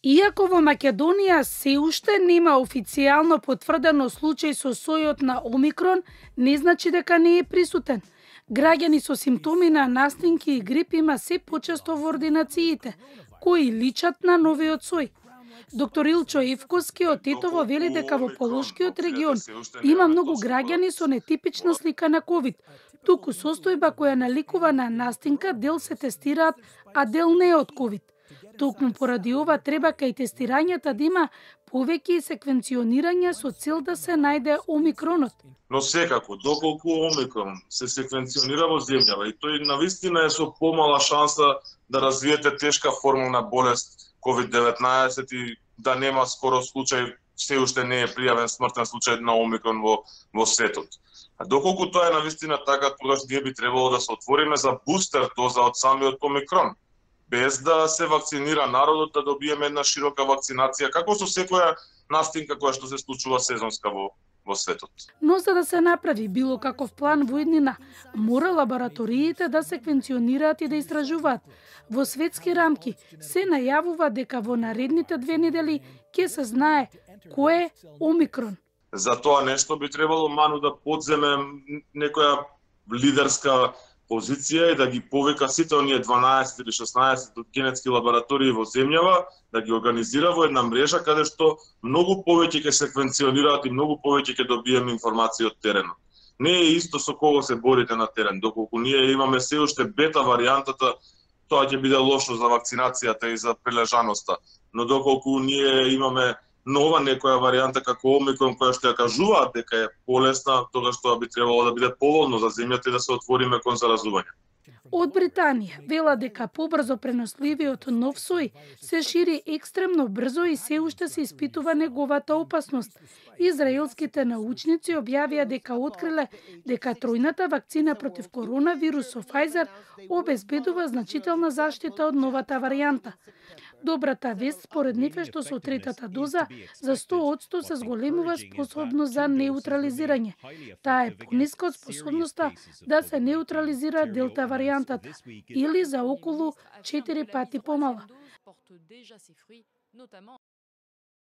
Иако во Македонија се уште нема официјално потврдено случај со сојот на Омикрон, не значи дека не е присутен. Граѓани со симптоми на настинки и грип има се почесто во ординациите, кои личат на новиот сој. Доктор Илчо Евковски од Тетово вели дека во Полошкиот регион има многу граѓани со нетипична слика на ковид, туку состојба која наликува на настинка дел се тестираат, а дел не од ковид. Токму поради ова треба кај тестирањата да има повеќе секвенционирање со цел да се најде омикронот. Но секако, доколку омикрон се секвенционира во земјава и тој навистина е со помала шанса да развиете тешка форма на болест COVID-19 и да нема скоро случај, се уште не е пријавен смртен случај на омикрон во светот. А доколку тоа е навистина така, тогаш ние би требало да се отвориме за бустер доза од самиот омикрон, без да се вакцинира народот, да добиеме една широка вакцинација, како со секоја настинка која што се случува сезонска во светот. Но за да се направи било каков план во иднина, мора лабораториите да секвенционираат и да истражуваат. Во светски рамки се најавува дека во наредните 2 недели ќе се знае кој е омикрон. За тоа нешто би требало Ману да подземе некоја лидерска позиција и да ги повика сите оние 12 или 16 генетски лаборатории во земјава, да ги организира во една мрежа каде што многу повеќе ќе секвенционираат и многу повеќе ќе добиеме информации од теренот. Не е исто со кого се борите на терен, доколку ние имаме се уште бета варијантата, тоа ќе биде лошо за вакцинацијата и за прилежаноста, но доколку ние имаме нова некоја варијанта како омикрон која што ја кажуваат дека е полесна, тогаш тоа би требало да биде поволно за земјата и да се отвориме кон заразување. Од Британија вела дека побрзо преносливиот нов сој се шири екстремно брзо и се уште се испитува неговата опасност. Израелските научници објавија дека откриле дека тројната вакцина против коронавирус со Pfizer обезбедува значителна заштита од новата варијанта. Добрата вест според нив е што со третата доза за 100% се зголемува способност за неутрализирање. Таа е пониска од способноста да се неутрализира делта варијантата или за околу 4 пати помала.